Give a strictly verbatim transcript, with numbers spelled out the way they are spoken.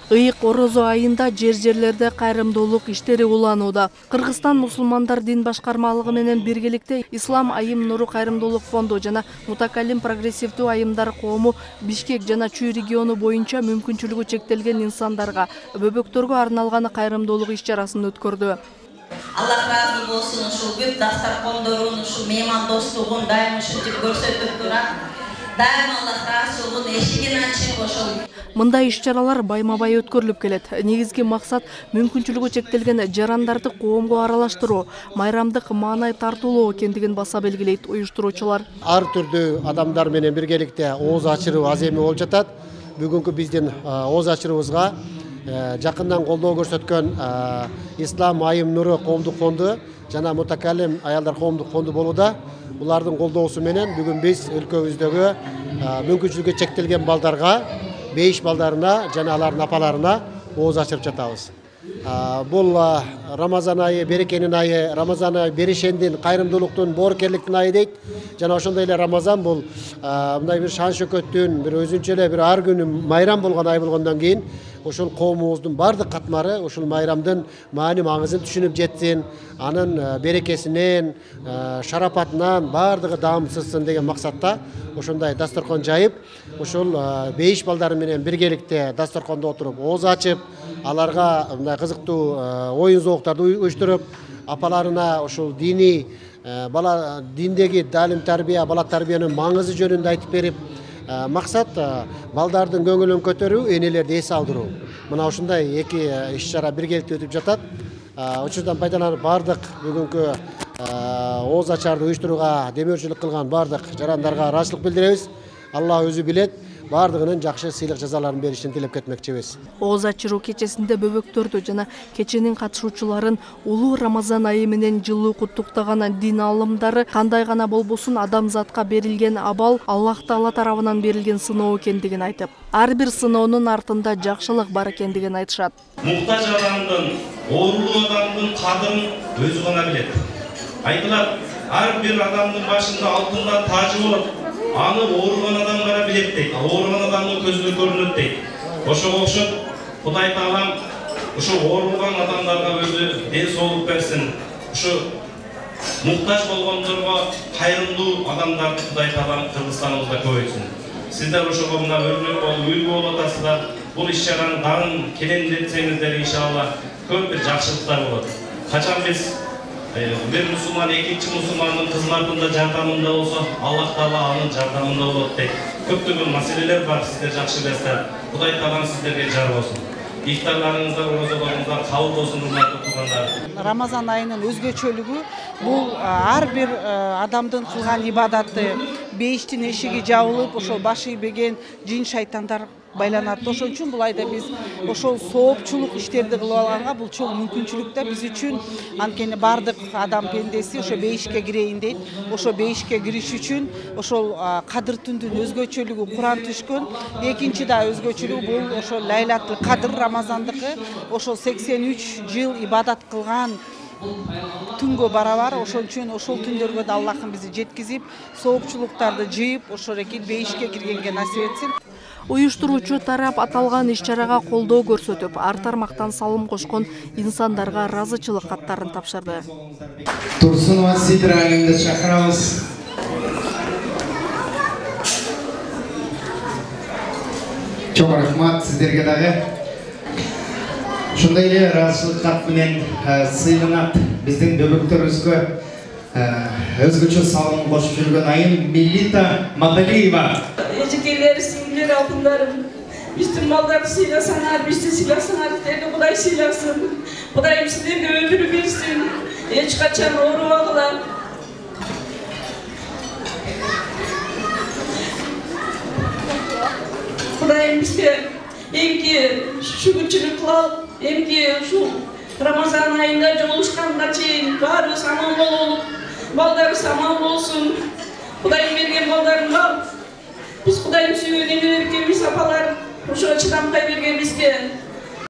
Ыйык орозо айында жер-жерлерде кайрымдуулук иштери уланууда. Кыргызстан мусулмандар дин башкармалыгы менен биргеликте Ислам айым нуру кайрымдуулук фонду жана Мутакалим прогрессивдүү айымдар коому Бишкек жана Чүй региону боюнча мүмкүнчүлүгү чектелген инсандарга, бөбөктөргө арналган кайрымдуулук иш-чарасын өткөрдү. Аллах разы болсун, ушул бүт дастаркондорун, ушул мейман достугун дайым ушинтип көрсөтүп турат. Дайым Аллах разылыгын эшигин ачып ошол. Мындай иш-чаралар байма-бай өткөрүлүп келет. Негизги максат мүмкүнчүлүгү чектелген жарандарды коомго аралаштыруу, майрамдык маанай тартуулоо экендигин баса белгилейт уюштуруучулар. Ар түрдүү адамдар менен биргеликте ооз ачыруу аземи болуп жатат. Бүгүнкү биздин ооз ачырыбызга жакындан колдоо көрсөткөн Ислам айым нуру коомдук фонду жана Мутакалим аялдар коомдук фонду болууда. Булардын колдоосу менен бүгүн биз өлкөбүздөгү мүмкүнчүлүгү чектелген балдарга, бейиш балдарына жана алардын апаларына ооз ачырып жатабыз. Бул Рамазан айы берекенин айы, Рамазан айы беришендин, кайрымдуулуктун, боорукерликтин айы дейт. Жана ошондой эле Рамазан бул мындай бир шан шөкөттүн, бир өзүнчө эле бир ар күнү майрам болгон ай болгондон кийин ошол коомубуздун бардык катмары ушул майрамдын маани маңызын түшүнүп жетсин, анын берекесинен, шарапатынан бардыгы даамсызсын деген максатта ошондой дасторкон жайып, ушул бейиш балдары менен биргеликте дасторкондо отуруп ооз ачып, аларга мындай кызыктуу оюн зооктарды уюштуруп, апаларына ушул диний бала диндеги талим тарбия, бала тарбиянын маңызы жөнүндө айтып берип, максат балдардын көңүлүн көтөрүү, энелерди эс алдыруу. Мына ушундай эки иш-чара биргеликте өтүп жатат. Учурдан пайдаланып бардык бүгүнкү ооз ачарды уюштурууга демөөрчүлүк кылган бардык жарандарга ыраазычылык билдиребиз. Алла өзү билет, бардыгынын жакшы сыйлык жазаларын беришин тилеп кетмекчибиз. Ооз ачыруу кечесинде бөбөктөрдү жана кеченин катышуучуларын улуу Рамазан айы менен жылуу куттуктаган дин алымдары кандай гана болбосун адамзатка берилген абал Аллах Таала тарабынан берилген сыноо экендигин айтып, ар бир сыноонун артында жакшылык бар экендигин айтышат. Муктаж адамдын, оорулуу адамдын кадырын өзү гана билет. Айтылат, ар бир адамдын башында алтындан тажы болот. Аны ооруган адам гана билет дейт. Ооруган адамдын көзүнө көрүнөт дейт. Ошого окшоп Кудай Таалам ушу ооруган адамдарга өзү ден соолук берсин. Ушу муктаж болгондорго кайрымдуу адамдарды Кудай Таалам Кыргызстаныбызда көбөйтсүн. Сиздер ошого мына өрнөк болуп, үлгү болуп атасыздар. Бул иш-чараны дагы келендетсеңиздер иншалла көп бир жакшылыктар болот. Качан биз бир мусулман экинчи мусулмандын кызматында жардамында болсо, Аллах Таала анын жардамында болот дейт. Көптөгөн маселелер бар, сиздер жакшы билесиздер. Кудай Таалам сиздерге жар болсун. Ифтарларыңыздар, оразаларыңыздар кабыл болсун, урматтуу туугандар. Рамазан айынын өзгөчөлүгү бул ар бир адамдын кылган ибадаты, бейиштин эшиги жабылып, ошол башы ийбеген жин шайтандар байланат. Ошон үчүн бул айда биз ошол соопчулук иштерди кылып алганга бул чоң мүмкүнчүлүк да биз үчүн. Анткени бардык адам пендеси ошо бейишке кирейин дейт. Ошо бейишке кириш үчүн ошол кадыр түндүн өзгөчөлүгү Куран түшкөн. Экинчи да өзгөчөлүгү бул ошол Лайлатул Кадыр Рамазандыкы. Ошол сексен үч жыл ибадат кылган түнгө барабар. Ошон үчүн ошол түндөргө да Аллахым бизди жеткизип, соопчулуктарды жыйып, ошол эки бейишке киргенге насип этсин. Уюштуруучу тарап аталган иш-чарага колдоо көрсөтүп, ар тармактан салым кошкон инсандарга ыраазычылык каттарын тапшырды. Турсунова Сидра айымды чакырабыз. Чоң рахмат сиздерге дагы. Ушундай эле ыраазычылык кат менен сыйланат биздин бөбөктөрүбүзгө өзгөчө салым кошуп жүргөн айым Милита Мадалиева. Эжекелер, сиңдилер, алтындарым, биздин балдарды сыйласаңар, бизди сыйласаңар, сиздерди Кудай сыйласын. Кудайым сиздерге өмүр берсин, эч качан оорубагыла. Кудайым бизге эмки шүгүрчүлүк кылып, эмки ушул Рамазан айында жолугушканга чейин баарыбыз аман бололук, балдарыбыз аман болсун. Кудайым берген балдарымга биз Кудайым сүйгөн энелер экенбиз, апалар ошого чыдамкай берген бизге.